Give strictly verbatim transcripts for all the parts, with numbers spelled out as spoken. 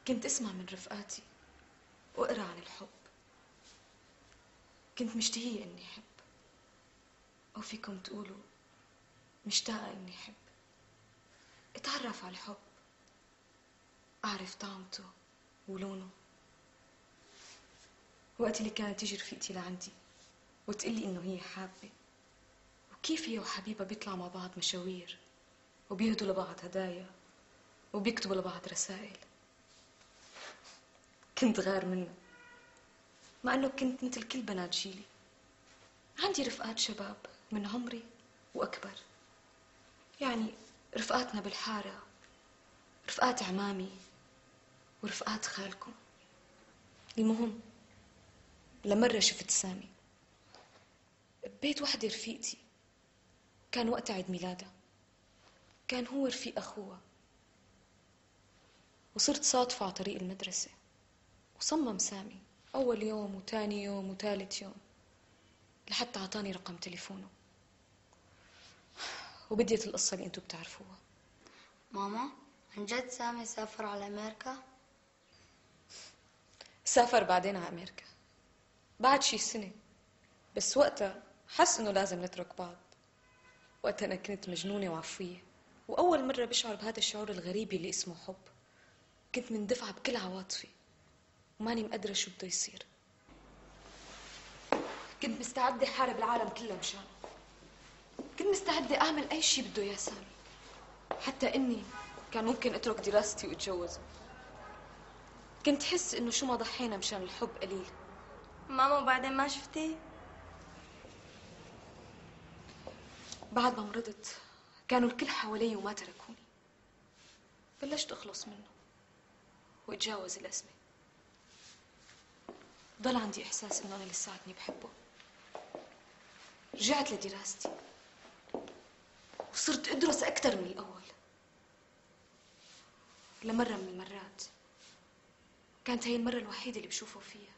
كنت اسمع من رفقاتي واقرا عن الحب. كنت مشتهية اني احب، او فيكم تقولوا مشتاقة اني احب. اتعرف على الحب، اعرف طعمته ولونه. وقت اللي كانت تيجي رفيقتي لعندي وتقلي انه هي حابة، وكيف هي وحبيبها بيطلعوا مع بعض مشاوير وبيهدوا لبعض هدايا وبيكتبوا لبعض رسائل، كنت غار منها، مع انه كنت مثل كل بنات جيلي. عندي رفقات شباب من عمري واكبر، يعني رفقاتنا بالحارة، رفقات عمامي ورفقات خالكم. المهم لمرة شفت سامي ببيت وحدة رفيقتي، كان وقت عيد ميلادها، كان هو رفيق أخوها، وصرت صادفة على طريق المدرسة. وصمم سامي أول يوم وتاني يوم وثالث يوم لحتى عطاني رقم تليفونه، وبديت القصة اللي انتو بتعرفوها. ماما، عن جد سامي سافر على أمريكا؟ سافر بعدين على أمريكا بعد شي سنة، بس وقتها حس إنه لازم نترك بعض. وقتها أنا كنت مجنونة وعفوية، وأول مرة بشعر بهذا الشعور الغريب اللي اسمه حب. كنت مندفعة بكل عواطفي وماني مقدرة شو بده يصير. كنت مستعدة حارب العالم كله مشانه، كنت مستعدة أعمل أي شي بده إياه سامي، حتى إني كان ممكن أترك دراستي وأتجوزه. كنت حس إنه شو ما ضحينا مشان الحب قليل. ماما، بعدين ما شفتي؟ بعد ما مرضت كانوا الكل حوالي وما تركوني. بلشت أخلص منه وأتجاوز الأزمة. ضل عندي إحساس إنه أنا لساتني بحبه. رجعت لدراستي وصرت أدرس أكثر من الأول. لمرة من المرات كانت هي المرة الوحيدة اللي بشوفه فيها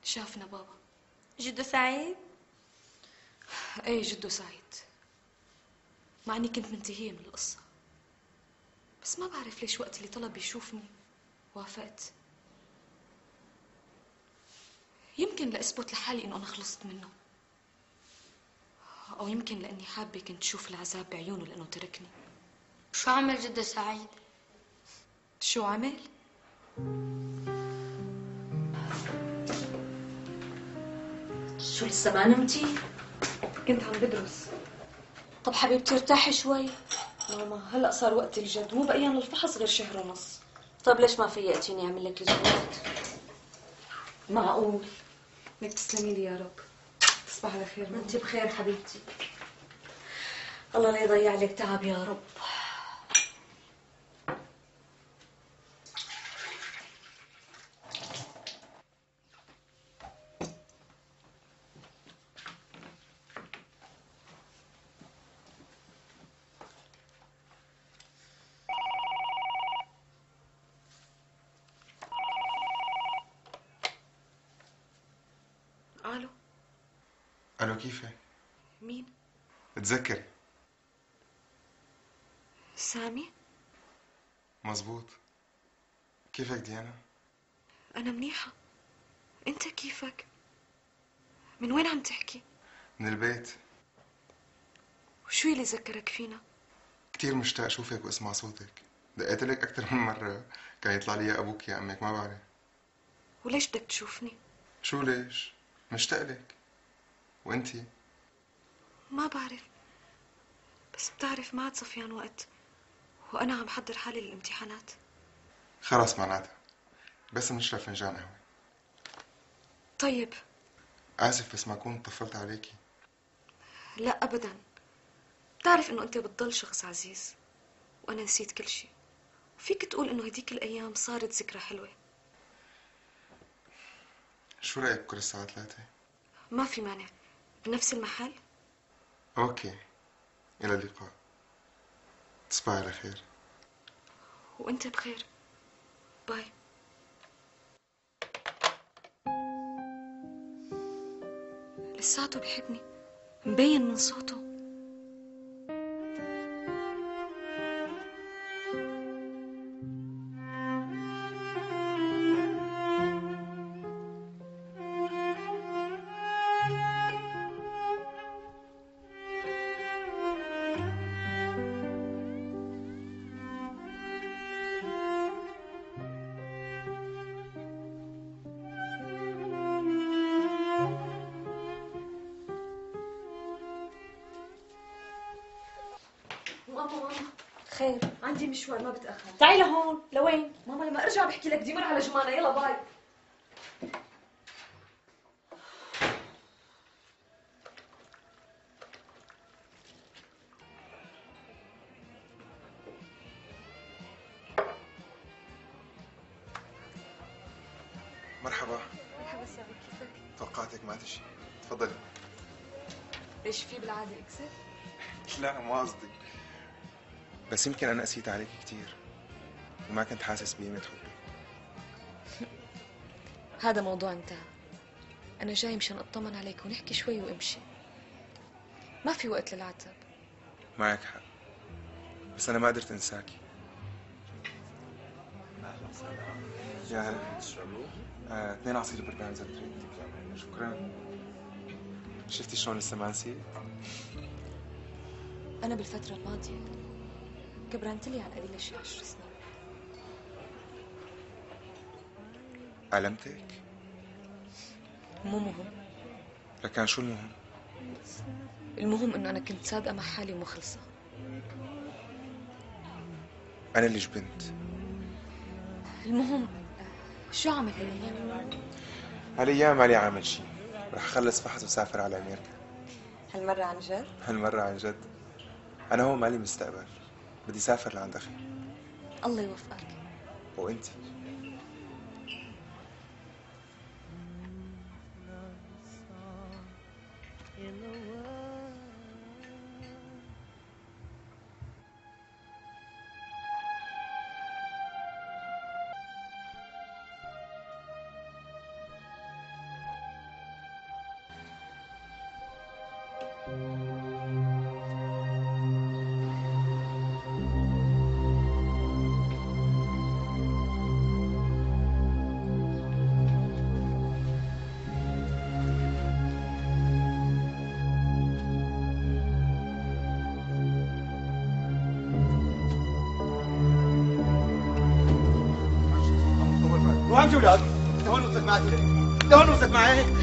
شافنا بابا. جدو سعيد؟ ايه جدو سعيد، مع اني كنت منتهية من القصة، بس ما بعرف ليش وقت اللي طلب يشوفني وافقت. يمكن لأثبت لحالي انه انا خلصت منه، او يمكن لاني حابة كنت شوف العذاب بعيونه لانه تركني. شو عمل جدو سعيد؟ شو عمل؟ شو لسه ما نمتي؟ كنت عم بدرس. طب حبيبتي ارتاحي شوي. ماما هلأ صار وقت الجد، مو بقيان الفحص غير شهر ونص. طب ليش ما فيقتيني اعمل لك الجوات؟ معقول؟ لك تسلمي لي يا رب. تصبح على خير ماما. انت بخير حبيبتي. الله لا يضيع لك تعب يا رب. الو. الو، كيفك؟ مين؟ تذكري. سامي؟ مزبوط. كيفك ديانا؟ انا منيحة، انت كيفك؟ من وين عم تحكي؟ من البيت. وشو اللي ذكرك فينا؟ كتير مشتاق اشوفك واسمع صوتك. دقيت لك اكثر من مرة، كان يطلع لي يا ابوك يا امك، ما بعرف. وليش بدك تشوفني؟ شو ليش؟ مشتاق لك. وانتي؟ ما بعرف، بس بتعرف ما عاد صفيان وقت وانا عم حضر حالي للامتحانات. خلص معناتها بس نشرب فنجان قهوة. طيب. اسف بس ما كنت طفلت عليكي. لا ابدا، بتعرف انه انت بتضل شخص عزيز وانا نسيت كل شيء، وفيك تقول انه هديك الايام صارت ذكرى حلوة. شو رايك بكره الساعة ثلاثة؟ ما في مانع، بنفس المحل. اوكي، الى اللقاء. تصبحي على خير. وانت بخير. باي. لساته بحبني، مبين من صوته. خير، عندي مشوار ما بتأخر. تعي لهون. لوين؟ ماما لما ارجع بحكي لك، بدي مر على جمانة. يلا باي. مرحبا. مرحبا سعيد، كيفك؟ توقعتك ما تجي. تفضلي. ليش في بالعادة اكسر؟ لا مو قصدي، بس يمكن انا قسيت عليك كثير وما كنت حاسس بقيمة حبي. هذا موضوع انتهى. انا جاي مشان اطمن عليك ونحكي شوي وامشي. ما في وقت للعتب. معك حق، بس انا ما قدرت انساكي. يا هلا. تشربوا؟ آه، اثنين عصير برتقال اذا بتريد. شكرا. شفتي شلون لسه ما نسيت؟ انا بالفترة الماضية كبرنت لي على القليلة شي عشر سنين. علمتك؟ مو مهم. لكان شو المهم؟ المهم انه انا كنت صادقة مع حالي ومخلصة. انا اللي جبنت. المهم شو عمل هالايام؟ هالايام مالي عامل شي، رح اخلص فحص وسافر على امريكا. هالمرة عن جد؟ هالمرة عن جد. انا هون مالي مستقبل، بدي سافر لعند اخي. الله يوفقك. وانتي؟ وين يا ولاد؟ لهون وصلت معي، لهون وصلت معي.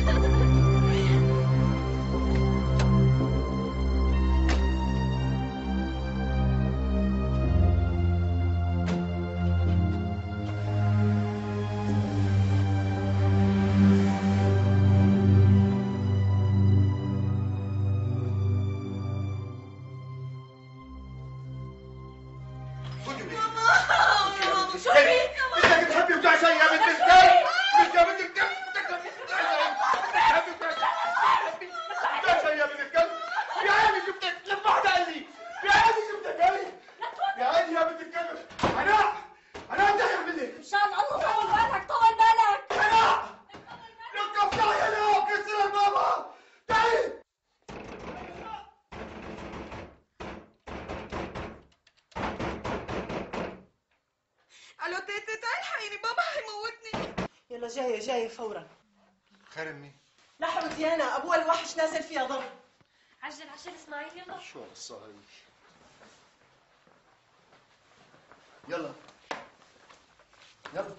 الو تيتي، تعي الحقيني، بابا حيموتني. يلا جاية جاية فورا. خير امي. لحقوا ديانا، ابوها الوحش نازل فيها ضرب. عجل عجل اسماعيل يلا. شو هالقصة هي؟ يلا يلا.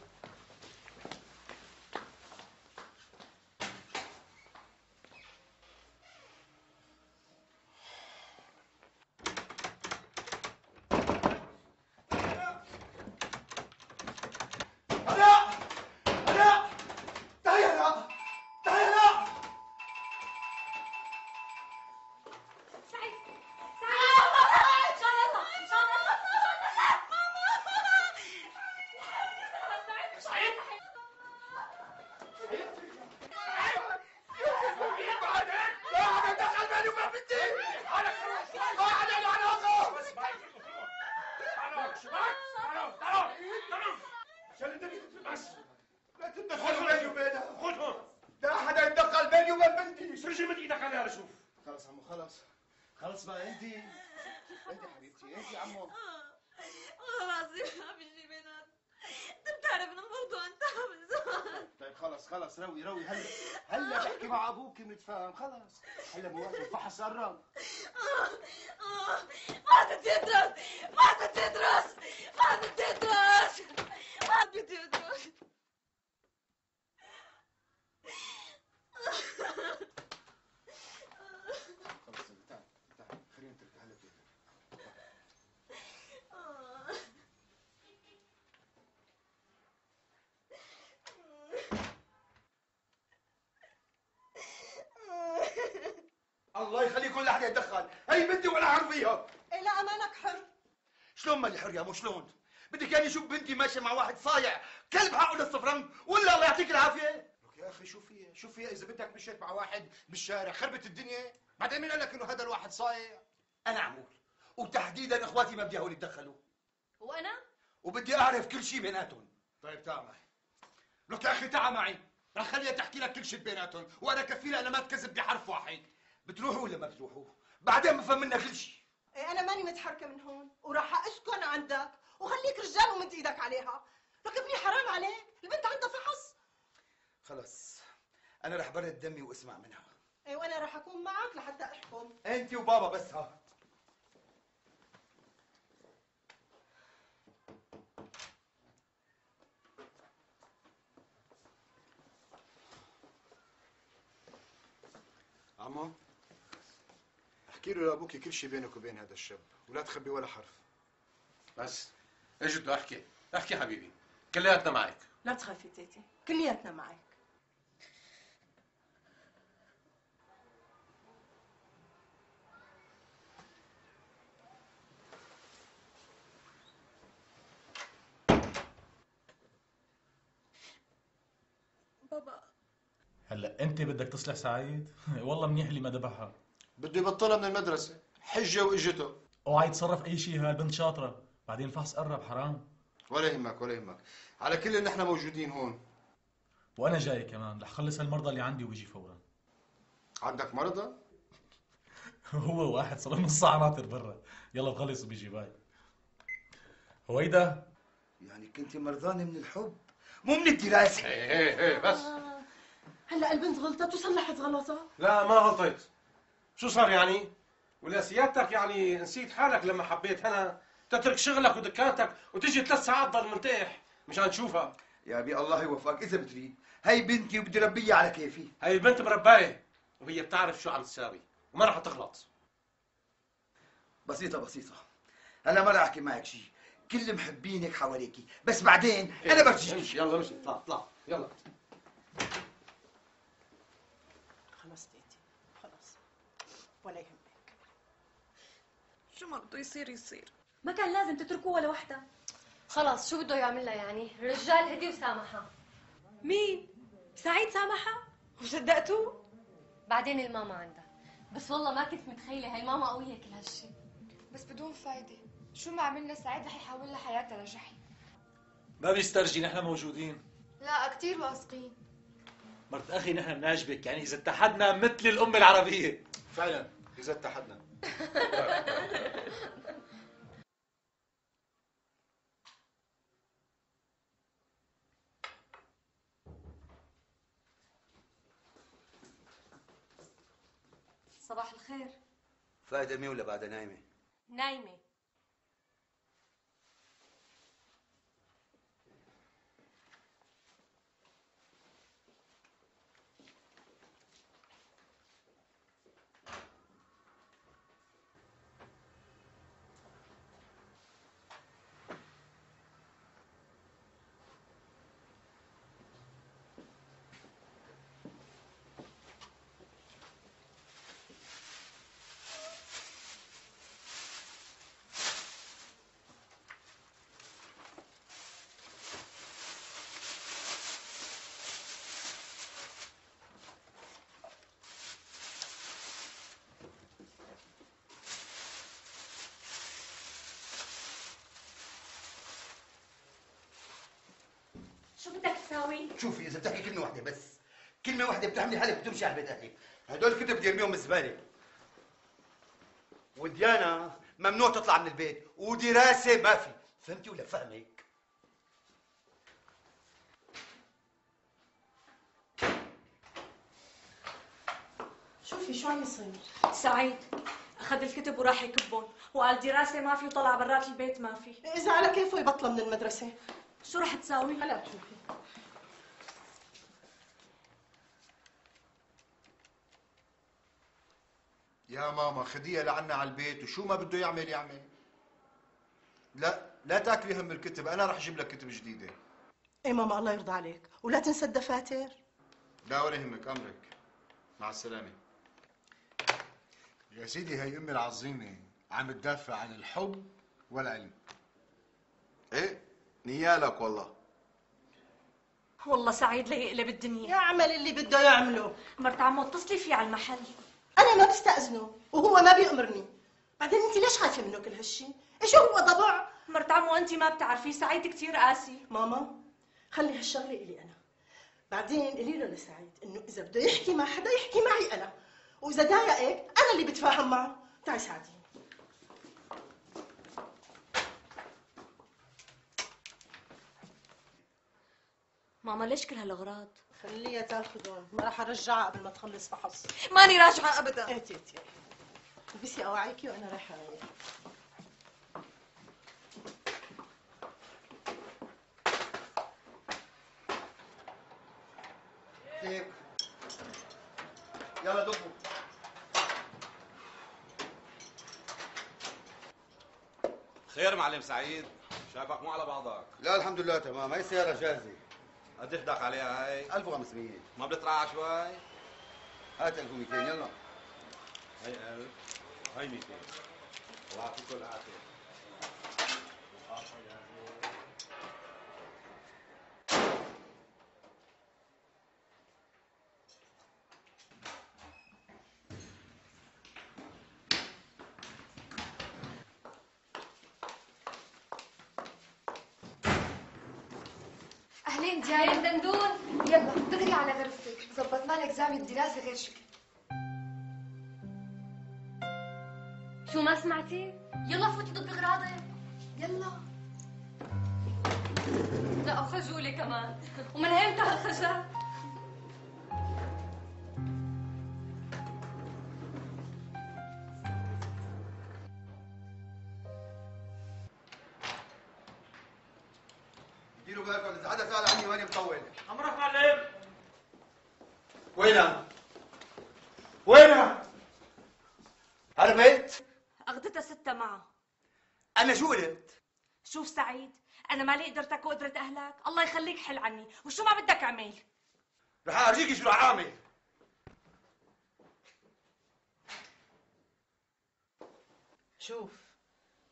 خلص عمو خلص خلص بقى. انت انت حبيبتي، انت عمو. والله العظيم ما بيجي بينات. انت بتعرف ان الموضوع انتهى من زمان. طيب خلص خلص روي روي. هلا هلا بحكي مع ابوك بنتفاهم. خلص هلا بوقت الفحص قرب. ما بدي ادرس، ما بدي ادرس، ما بدي ادرس، ما بدي ادرس. خلص تعال تعال خلينا نترك هلا بيتك. حدا يتدخل، هي بنتي ولا حر فيها. إيه لا أمانك حر. شلون مالي حر يا مو شلون؟ بدك يعني اشوف بنتي ماشيه مع واحد صايع كلب حقه للصفرنج ولا الله يعطيك العافيه؟ لك يا اخي شو فيها؟ شو فيها اذا بنتك مشيت مع واحد بالشارع خربت الدنيا؟ بعدين مين قال لك انه هذا الواحد صايع؟ انا عمول وتحديدا اخواتي ما بدي هول يتدخلوا. وانا؟ وبدي اعرف كل شيء بيناتهم. طيب تعال معي. لك يا اخي تعال معي، رح خليها تحكي لك كل شيء بيناتهم، وانا كفيلة انا ما تكذب بحرف واحد. بتروحوا ولا ما بتروحوا؟ بعدين بفهم منك كل شيء. إيه أنا ماني متحركة من هون وراح أسكن عندك وخليك رجال ومد إيدك عليها. لك ابني حرام عليك، البنت عندها فحص. خلص انا رح برد دمي واسمع منها. إيه وأنا راح أكون معك لحتى أحكم. انت وبابا بس. ها عمو، احكي له لابوك كل شيء بينك وبين هذا الشاب ولا تخبي ولا حرف. بس اجد له احكي احكي حبيبي، كلياتنا معك. لا تخافي تيتي، كلياتنا معك. بابا هلا انت بدك تصلح سعيد؟ والله منيح اللي ما ذبحها. بده يبطلها من المدرسه، حجه واجته. اوعى يتصرف اي شيء، هالبنت شاطره، بعدين الفحص قرب حرام. ولا يهمك ولا يهمك، على كل ان احنا موجودين هون. وانا جاي كمان رح خلص هالمرضى اللي عندي وبيجي فورا. عندك مرضى؟ هو واحد صار له نص ساعه ناطر برا، يلا بخلص وبيجي باي. هويدا يعني كنت مرضانه من الحب مو من الدراسه. ايه ايه ايه بس. آه. هلا البنت غلطت وصلحت غلطها. لا ما غلطت. شو صار يعني؟ ولا سيادتك يعني نسيت حالك لما حبيت هنا تترك شغلك ودكانتك وتجي ثلاث ساعات ضل مرتاح مشان تشوفها؟ يا ابي الله يوفقك اذا بتريد، هي بنتي وبدي ربيها على كيفي. هي البنت مربايه وهي بتعرف شو عم تساوي وما رح تغلط. بسيطه بسيطه، هلا ما رح احكي معك شيء، كل محبينك حواليكي، بس بعدين انا برجيك. امشي يلا امشي، اطلع اطلع يلا. خلص تيتي خلص، ولا يهمك. شو ما بده يصير يصير. ما كان لازم تتركوه ولا وحده. خلص شو بده يعمل لها يعني؟ الرجال هدي وسامحها. مين؟ سعيد سامحها؟ وصدقتوه؟ بعدين الماما عندها، بس والله ما كنت متخيله هي ماما قويه كل هالشي. بس بدون فايدة، شو ما عملنا سعيد رح يحول لها حياتها لجحيم. ما بيسترجي، نحن موجودين. لا كتير واثقين. مرت اخي نحن بنعجبك، يعني اذا اتحدنا مثل الامه العربيه. فعلا اذا اتحدنا. صباح الخير. فايدة مي ولا بعدها نايمة؟ نايمه. شو بدك تساوي؟ شوفي اذا بتحكي كلمة واحدة بس، كلمة واحدة بتحملي حالك بتمشي على بيت اهلك، هدول الكتب بدي ارميهم بالزبالة. وديانا ممنوع تطلع من البيت، ودراسة ما في، فهمتي ولا فهمك؟ شوفي شو عم يصير. سعيد اخذ الكتب وراح يكبهم، وقال دراسه ما في وطلع برات البيت ما في. إذا على كيفه يبطلها من المدرسة. شو رح تساوي؟ هلا بتشوفي. يا ماما خديها لعنا على البيت وشو ما بده يعمل يعمل. لا لا تاكلي هم الكتب، انا رح اجيب لك كتب جديدة. إيه ماما الله يرضى عليك، ولا تنسى الدفاتر. لا ولا يهمك، امرك. مع السلامة. يا سيدي هي امي العظيمه عم تدافع عن الحب والعلم. ايه نيالك والله. والله سعيد ليقلب الدنيا. يعمل اللي بده يعمله. مرت عمو اتصلي فيه على المحل. انا ما بستأذنه وهو ما بيأمرني. بعدين انت ليش خايفه منه كل هالشي؟ ايش هو ضبع؟ مرت عمو انت ما بتعرفي سعيد كثير قاسي. ماما خلي هالشغله الي انا. بعدين قولي له لسعيد انه اذا بده يحكي مع حدا يحكي معي انا، واذا ضايقك انا اللي بتفاهم معه. تعي ساعديني. ماما ليش كل هالاغراض؟ خليها تاخذهم، ما راح ارجعها قبل ما تخلص فحص. ماني راجعه ابدا. ايه تيتي البسي اواعيكي وانا رايحه اريح. هيك يلا دقوا. خير معلم سعيد، شايفك مو على بعضك. لا الحمد لله تمام. هي السيارة جاهزة. قديش بدك عليها هي؟ ألف وخمسمية. ما بتطلع شوي؟ هات ألف ومئتين يلا. هي ألف، هي مئتين. الله يعطيكم العافية. أهلين ديانا. أهلين دندون. يلا دغري على غرفتك، ظبطنا لك زاوية الدراسة غير شكل. شو ما سمعتي؟ يلا فوتي ضد اغراضك. يلا. لا وخجولة كمان، ومن ايمتى هالخجل؟ ديروا بالكم إذا حدا سأل عني ماني مطول. أمرك معلم. وينها؟ وينها؟ هربت؟ اخذتها ستة معها. انا شو قلت؟ شوف سعيد، انا مالي قدرتك وقدرة اهلك، الله يخليك حل عني، وشو ما بدك اعمل؟ رح ارجيكي شو رح اعمل. شوف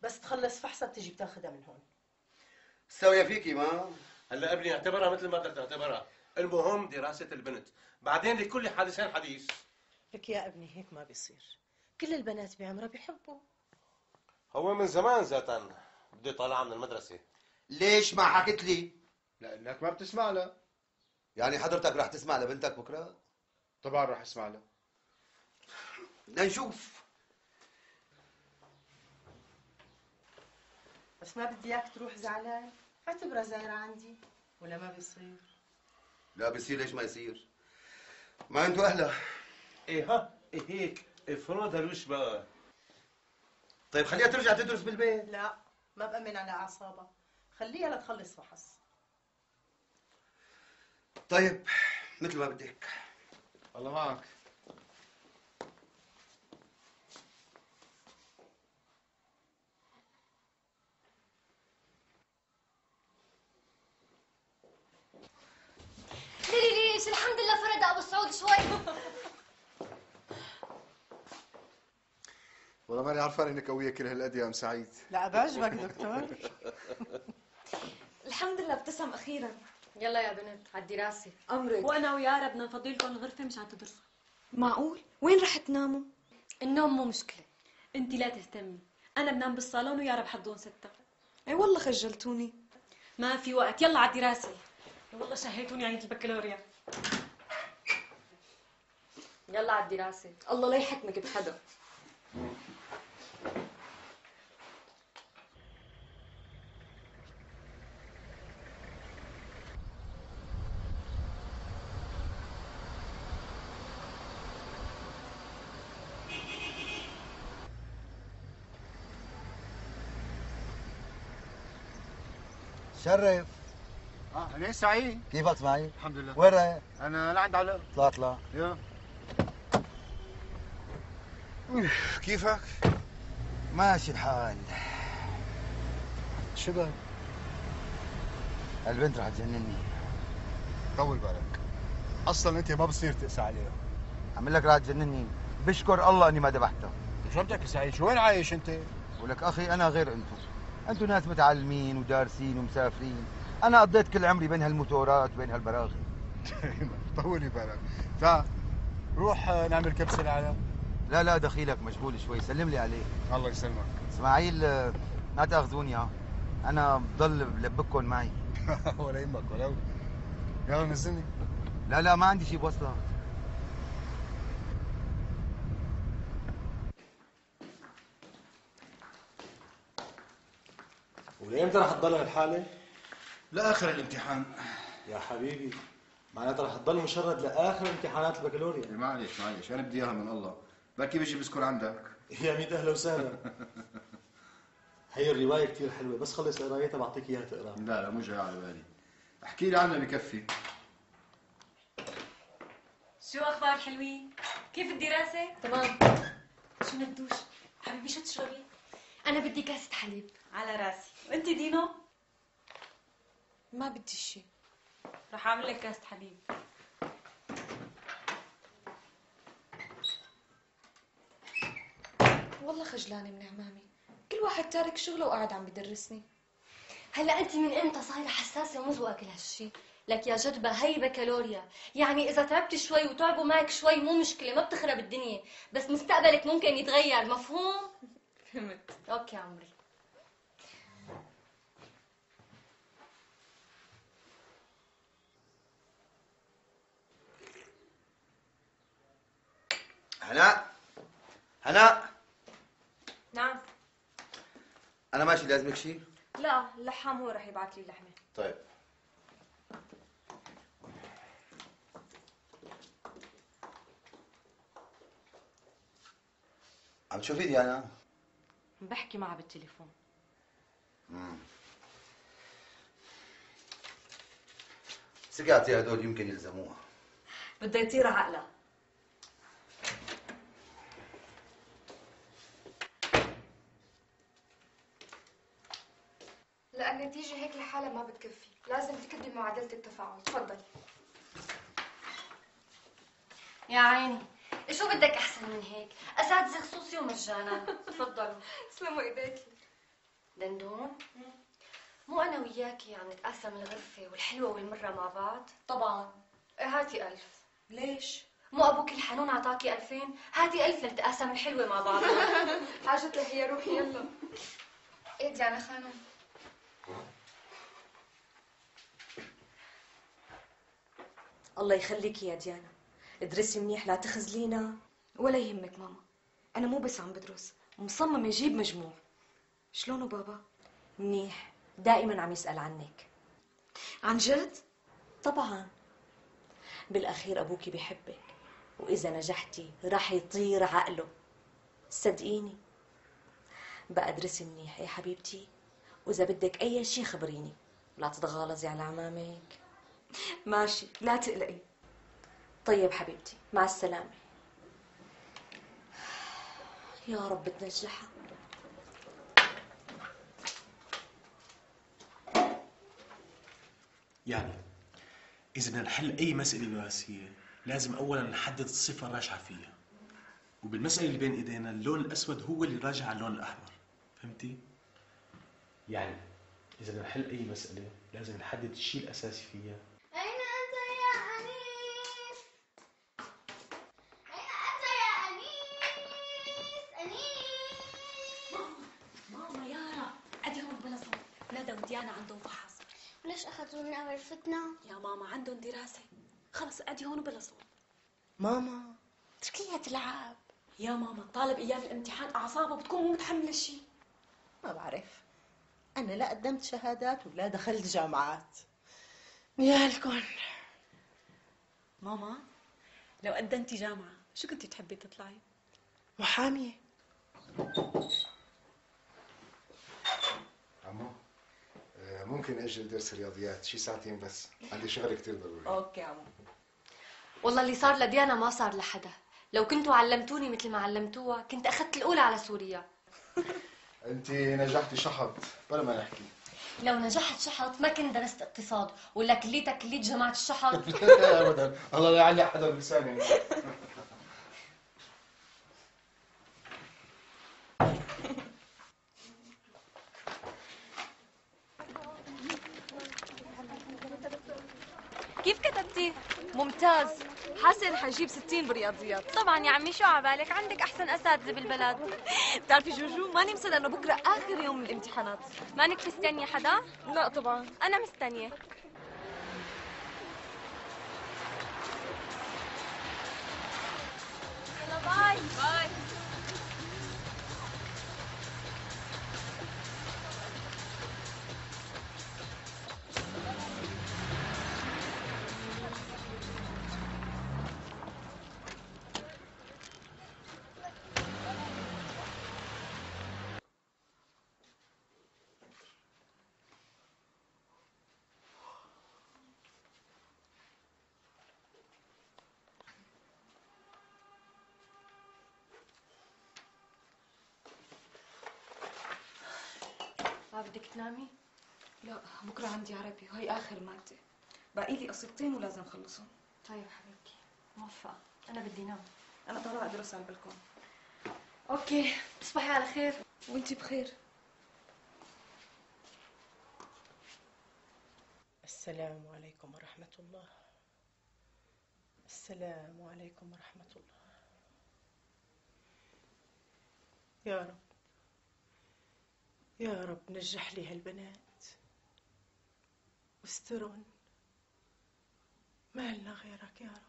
بس تخلص فحصها بتجي بتاخذها من هون. سوية فيكي ما؟ هلا ابني اعتبرها مثل ما بدك تعتبرها، المهم دراسة البنت، بعدين لكل حادثين حديث. لك يا ابني هيك ما بيصير، كل البنات بعمرها بيحبوا. هو من زمان ذاتا بده يطلعها من المدرسة. ليش ما حكت لي؟ لانك ما بتسمع لها. يعني حضرتك رح تسمع لبنتك بكره؟ طبعا رح اسمع لها. لنشوف. بس ما بدي اياك تروح زعلان، اعتبرها زايرة عندي، ولا ما بيصير؟ لا بيصير، ليش ما يصير؟ ما انتوا اهلها. ايه ها إيه هيك افرض هالوش بقى. طيب خليها ترجع تدرس بالبيت. لا ما بأمن على اعصابها، خليها لتخلص فحص. طيب مثل ما بدك. الله معك. ليلي ليش الحمد لله فرد ابو سعود شوي. والله ماني عرفان انك قويه كل هالقد يا ام سعيد. لا بعجبك دكتور. الحمد لله ابتسم اخيرا. يلا يا بنت على الدراسة. امرك. وانا ويارا بدنا نفضي لكم الغرفة مشان تدرسوا. معقول؟ وين رح تناموا؟ النوم مو مشكلة. انت لا تهتمي، انا بنام بالصالون ويارا بحضون ستة. اي والله خجلتوني. ما في وقت، يلا على الدراسة. والله شهيتوني عيد البكالوريا. يلا على الدراسة. الله لا يحكمك بحدا. شرف. اه انا سعيد. كيفك سعيد؟ الحمد لله. وين رايح؟ انا لعند علاء. طلع طلع. يلا. كيفك؟ ماشي الحال. شو بك؟ البنت رح تجنني. طول بالك. اصلا انت ما بصير تقسى عليها. عم لك رح تجنني، بشكر الله اني ما ذبحتها. شو بدك يا سعيد؟ شو وين عايش انت؟ ولك اخي انا غير انتم، انتم ناس متعلمين ودارسين ومسافرين، انا قضيت كل عمري بين هالموتورات وبين هالبراغي. طولي بالك. تعال روح نعمل كبسه العالم. لا لا دخيلك مشغول شوي، سلم لي عليه. الله يسلمك. اسماعيل ما تاخذوني ها، انا بضل بلبككم معي. ولا يهمك ولو. يلا نزلني. لا لا ما عندي شيء بوصلك. ولامتى رح تضل هالحالة؟ لاخر الامتحان. يا حبيبي معناتها رح تضل مشرد لاخر امتحانات البكالوريا. معلش معلش انا بدي اياها من الله، بركي بيجي بذكر عندك. يا ميت اهلا وسهلا. هي الرواية كثير حلوة، بس خلص قرايتها بعطيك اياها تقرا. لا لا مو جاي على بالي. احكي لي عنها بكفي. شو اخبار الحلوين؟ كيف الدراسة؟ تمام. شو ندوش؟ حبيبي شو تشربي؟ انا بدي كاسة حليب. على راسي، وانت دينو؟ ما بدي شيء. رح اعمل لك كاسة حليب. والله خجلانة من عمامي، كل واحد تارك شغله وقاعد عم بدرسني. هلا انت من امتى صايره حساسه ومزوقه كل هالشي؟ لك يا جدبه هي بكالوريا، يعني اذا تعبت شوي وتعبوا معك شوي مو مشكله، ما بتخرب الدنيا، بس مستقبلك ممكن يتغير، مفهوم؟ فهمت. اوكي عمري. هناء هناء نعم. انا ماشي، لازمك شيء؟ لا اللحام هو رح يبعث لي اللحمة. طيب. عم تشوفي ديانا؟ بحكي معها بالتليفون. امم سكاتي هدول يمكن يلزموها. بدها يطير عقلها. لا النتيجة هيك لحالها ما بتكفي، لازم تكتبي معادلة التفاعل. تفضلي. يا عيني، شو بدك احسن من هيك؟ اساتذه خصوصي ومجانا. تفضلوا. تسلموا ايديكي. دندون، مو انا وياكي عم نتقاسم الغرفه والحلوه والمره مع بعض؟ طبعا. ايه هاتي ألف. ليش؟ مو ابوك الحنون عطاكي ألفين؟ هاتي ألف لنتقاسم الحلوه مع بعض. حاجة هي روحي يلا. ايه ديانا خانم؟ الله يخليكي يا ديانا، ادرسي منيح لا تخزلينا. ولا يهمك ماما، أنا مو بس عم بدرس، مصممة أجيب مجموع. شلونه بابا؟ منيح، دائما عم يسأل عنك. عن جد؟ طبعا، بالأخير أبوكي بيحبك، وإذا نجحتي راح يطير عقله، صدقيني. بقى ادرسي منيح يا حبيبتي، وإذا بدك أي شي خبريني، لا تتغالظي على عمامك. ماشي، لا تقلقي. طيب حبيبتي، مع السلامة. يا رب تنجحها. يعني إذا بدنا نحل أي مسألة دراسية لازم أولاً نحدد الصفة الراجحة فيها، وبالمسألة اللي بين إيدينا اللون الأسود هو اللي راجع على اللون الأحمر، فهمتي؟ يعني إذا بدنا نحل أي مسألة لازم نحدد الشيء الأساسي فيها. أين أنت يا أنيس؟ أين أنت يا أنيس؟ أنيس؟ ماما يارا، أدي هون بلا صوت، ندى وديانا عندهم فحص. وليش أخذونا غرفتنا؟ يا ماما عندهم دراسة، خلص أدي هون بلا صوت. ماما تركيها تلعب. يا ماما الطالب أيام الامتحان أعصابه بتكون مو متحملة شيء. ما بعرف، أنا لا قدمت شهادات ولا دخلت جامعات. نيالكن. ماما لو قدمتي جامعة شو كنتي تحبي تطلعي؟ محامية. عمو ممكن اجل درس الرياضيات شي ساعتين بس، عندي شغل كتير ضروري. اوكي عمو. والله اللي صار لديانا ما صار لحدا، لو كنتوا علمتوني مثل ما علمتوها كنت اخذت الاولى على سوريا. انت نجحتي شحط بلا ما نحكي. لو نجحت شحط ما كنت درست اقتصاد، ولا كليتك كليت جماعة الشحط. لا ابدا، الله لا يعلي حدا بلساني. جبتي؟ ممتاز. حاسه رح اجيب ستين برياضيات. طبعا يا عمي، شو عبالك؟ عندك احسن اساتذه بالبلد. بتعرفي جوجو ماني مصدقه انه بكره اخر يوم من الامتحانات. مانك مستنيه حدا؟ لا طبعا. انا مستنيه. يلا باي باي. ما بدك تنامي؟ لا بكره عندي عربي وهي اخر ماده. باقي لي قصيدتين ولازم خلصهم. طيب حبيبتي، موفقة. أنا بدي نام. انا طالعه ادرس على البلكون. أوكي، تصبحي على خير. وانتي بخير. السلام عليكم ورحمة الله. السلام عليكم ورحمة الله. يا رب يا رب نجح لي هالبنات واسترن، ما لنا غيرك يا رب.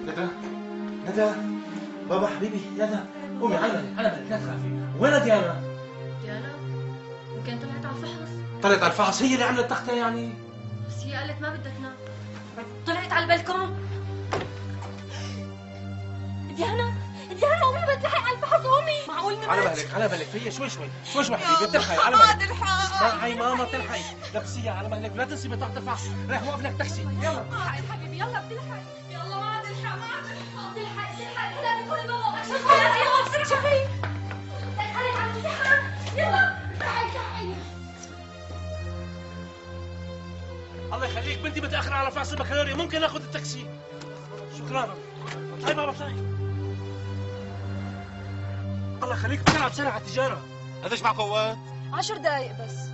ندى ندى بابا حبيبي يلا قومي على مهلك على مهلك لا تخافي. وين ديانا؟ ديانا؟ يمكن طلعت على الفحص. طلعت على الفحص؟ هي اللي عملت تختها يعني؟ بس هي قالت ما بدها تنام. طلعت على البلكون. ديانا ديانا قومي بتلحق على الفحص قومي. معقول نمت؟ على مهلك على مهلك فيا شوي شوي شوي شوي حبيبي تلحقي على مهلك. اسمعي ماما تلحقي لبسيها على مهلك ولا تنسي بطاقة الفحص. رايح وقف لك تاكسي يلا. الحقي حبيبي يلا بتلحقي. يلا ما عاد الحق ما عاد الحق. تلحقي تلحقي هلا بكون بابا. شوفي يلا بسرعة. شوفي دخلي على الامتحان يلا. تعي تعي. الله يخليك بنتي متأخرة على فحص البكالوريا، ممكن اخذ التاكسي؟ شكرا. طيب بابا طيب. الله يخليك بسرعة بسرعة على التجارة. قديش معك وقت؟ عشر دقايق بس.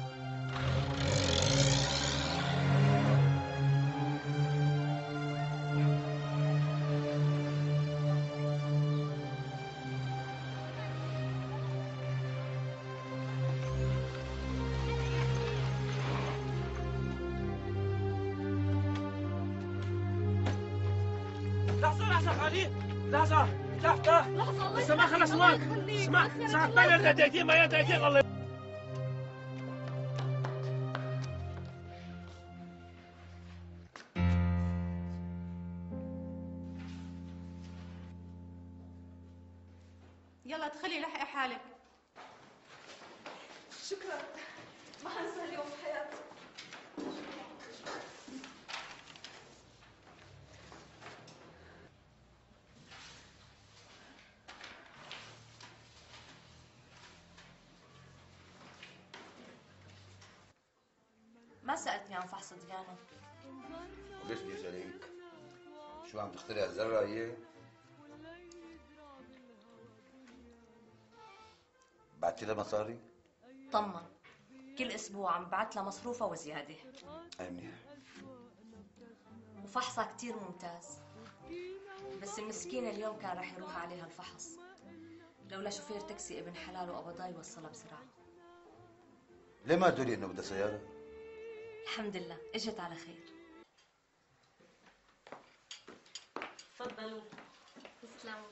لحظة لحظة خالي لحظة لحظة لحظة لسه ما خلص وقت. اسمع ساعة ثانية دقيقتين ما هي دقيقتين الله. يلا ادخلي لحقي حالك. شكرا. ما حنسى اليوم في حياتي. ما سألتني عن فحص ديانا. وليش بدي اسالك؟ شو عم تخترع الذره هي؟ بعتي لها مصاري؟ طمن، كل اسبوع عم بعت لها مصروفها وزياده. اي منيح. وفحصها كتير ممتاز، بس المسكينه اليوم كان رح يروح عليها الفحص لولا شوفير تاكسي ابن حلال وقبضاه يوصلها بسرعه. ليه ما قالوا لي انه بدها سياره؟ الحمد لله اجت على خير. تفضلوا. تسلموا.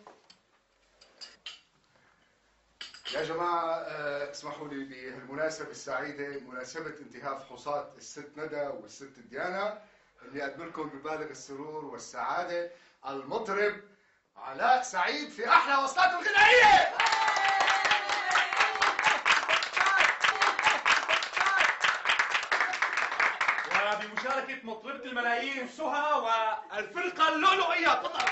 يا جماعة آه، اسمحوا لي بهالمناسبة السعيدة، مناسبة انتهاء فحوصات الست ندى والست ديانا، اني اقدم لكم ببالغ السرور والسعادة المطرب علاء سعيد في احلى وصلاته الغنائية. وبمشاركة مطربة الملايين سهى والفرقة اللؤلؤية. تفضل.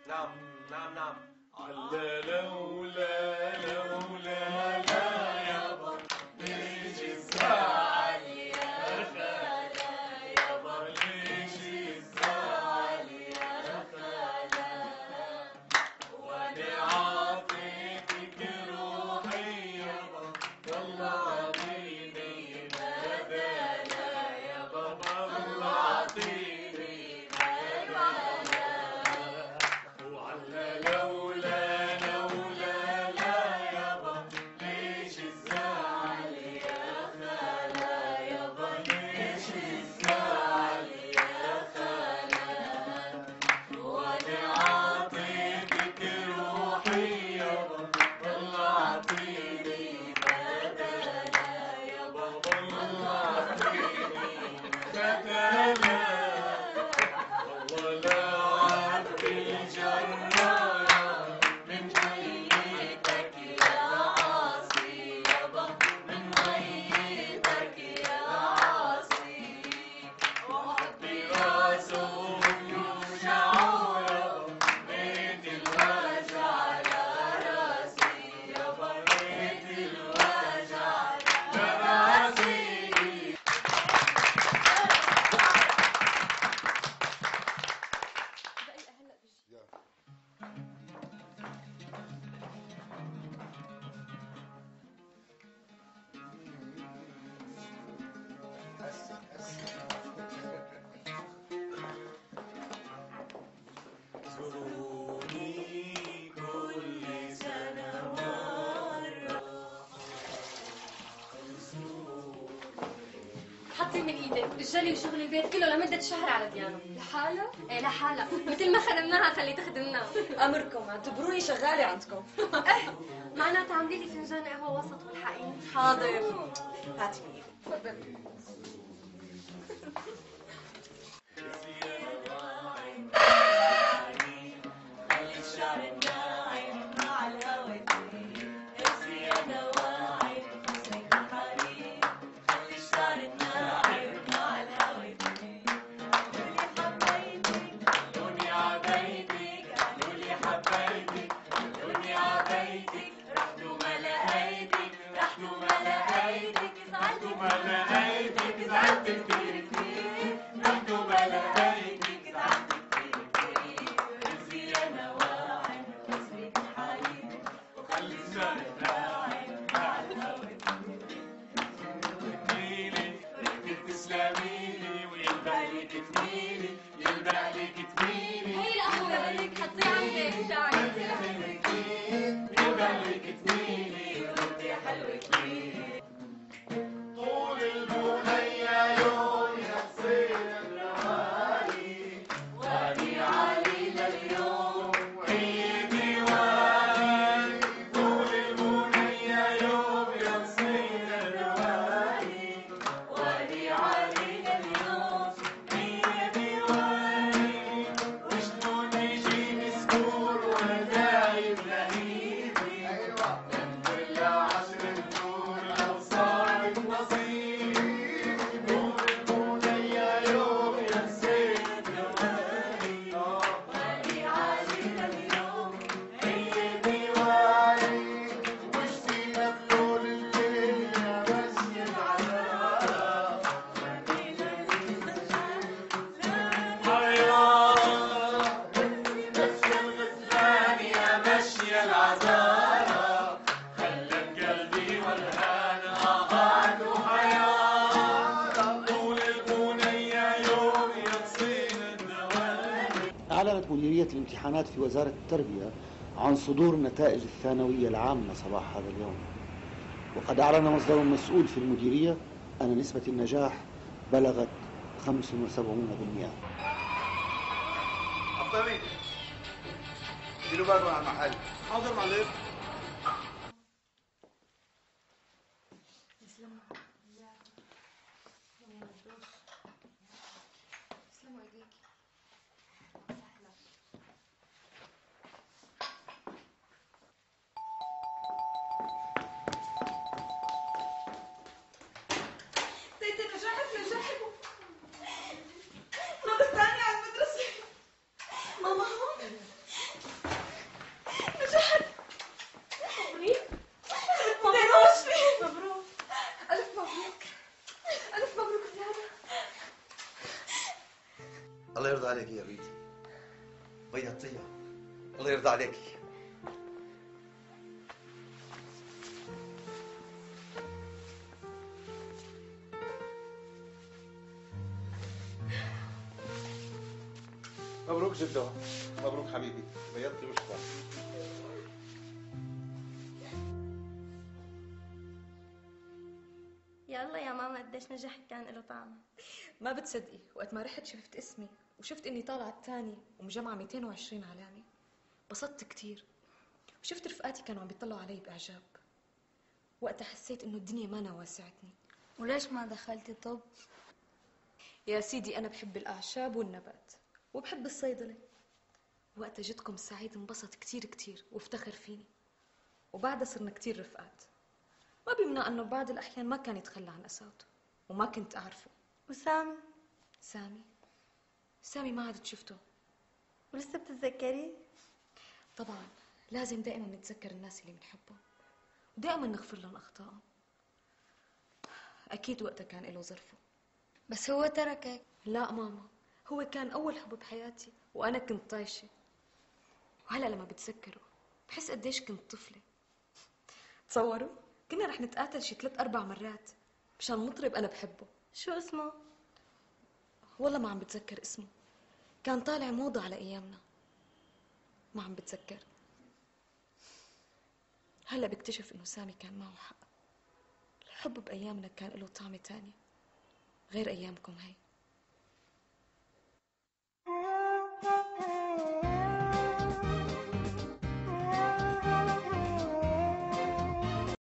نعم نعم نعم. على لولا لولا لا يابا ليش الزعل يا خالا يابا ليش الزعل يا خالا وانا عاطيتك روحي يابا والله عطيني ما دانا يابا والله عطيني ما دانا وعلى لولا لولا لا يابا ليش الزعل يا خالا يابا ليش الزعل يا خالا وانا عاطيتك روحي يابا والله عطيني بدانا يابا والله عطيني بدانا والله لا عبد الجرارة من هيئتك يا عاصي يابا من هيئتك يا عاصي وحطي راسه يوجعه يابا ريت الوجع على راسي يابا ريت الوجع على راسي. زوروني كل سنة مرة. حطي من ايدك الجلي وشغل البيت كله لمدة شهر على ديانا. لحالها؟ ايه لحالها، مثل ما خدمناها خلي تخدمنا. امركم اعتبروني شغاله عندكم. ايه معناتها عاملي لي فنجان قهوه وسط والحقيني. حاضر. هاتي من ايدك. تفضلي. خلي الشعر الناعم مع الهوى يطير الزيادة واعي حسنك الحرير خلي الشعر الناعم مع الهوى يطير قالوا لي حبيتك قالوا لي عبيتك قالوا لي حبيتك قالوا لي عبيتك رحت وما لقيتك رحت وما لقيتك زعلت وما لقيتك زعلت كتير كتير رحت وما لقيتك زعلت كتير كتير الزيادة واعي حسنك الحرير وخلي الشعر الناعم مع الهوى تميلي ريتك تسلميلي ويلبقلك تميلي يلبقلك تميلي هي القهوه بدك حطيها عندك تعالي. يلبقلك تميلي وانتي حلوة كتير طول المنية يوم يحصين الروايق وادي علي لليوم هي ديواني طول المنية يوم يحصين الروايق وادي علي لليوم هي ديواني وشلون يجي مسكور وانا دايب لهيبي ايوه كل عشر النور لو صارت نصيب طول المنية يوم يحصين الروايق وادي علي لليوم هي ديواني وش فينا بلون الليل يا مشي العذاب حيران مشي الغزلان يا مشي العذارى خلت قلبي والهان قعد وحيران طول البنية يوم يقصين الدوام. أعلنت مديرية الامتحانات في وزارة التربية عن صدور نتائج الثانوية العامة صباح هذا اليوم، وقد أعلن مصدر مسؤول في المديرية أن نسبة النجاح بلغت خمسة وسبعين بالمئة. عطامي اديله بالكم على المحل. حاضر معلم. تسلموا ايديكي. تيتي نجحت نجحت مرة ثانية على المدرسة. ماما هون نجحت. مبروك مبروك مبروك ألف مبروك ألف مبروك زيادة. الله يرضى عليك يا بنتي، بيضتيها. الله يرضى عليك. مبروك جدو، مبروك حبيبي، بيضتي وشك. يلا يا ماما قديش نجح كان له طعم. ما بتصدقي وقت ما رحت شفت اسمي وشفت اني طالعه الثاني ومجمعه مئتين وعشرين علامه بسطت كثير، وشفت رفقاتي كانوا عم بيطلعوا علي باعجاب. وقتها حسيت انه الدنيا ما واسعتني. وليش ما دخلتي طب؟ يا سيدي انا بحب الاعشاب والنبات وبحب الصيدله. وقتها جدكم سعيد انبسط كثير كثير وافتخر فيني، وبعدها صرنا كثير رفقات. ما بيمنع انه بعض الاحيان ما كان يتخلى عن اساته وما كنت اعرفه. وسامي؟ سامي سامي ما عاد شفته. ولسه بتتذكريه؟ طبعا لازم دائما نتذكر الناس اللي بنحبهم ودائما نغفر لهم اخطائهم. اكيد وقتها كان له ظرفه. بس هو تركك؟ لا ماما، هو كان اول حب بحياتي وانا كنت طايشه. وهلا لما بتذكره بحس قديش كنت طفله. تصوروا كنا رح نتقاتل شي ثلاث اربع مرات مشان مطرب انا بحبه. شو اسمه؟ والله ما عم بتذكر اسمه، كان طالع موضة على ايامنا. ما عم بتذكر. هلا بكتشف انه سامي كان معه حق. الحب بايامنا كان له طعمه تاني غير ايامكم هي.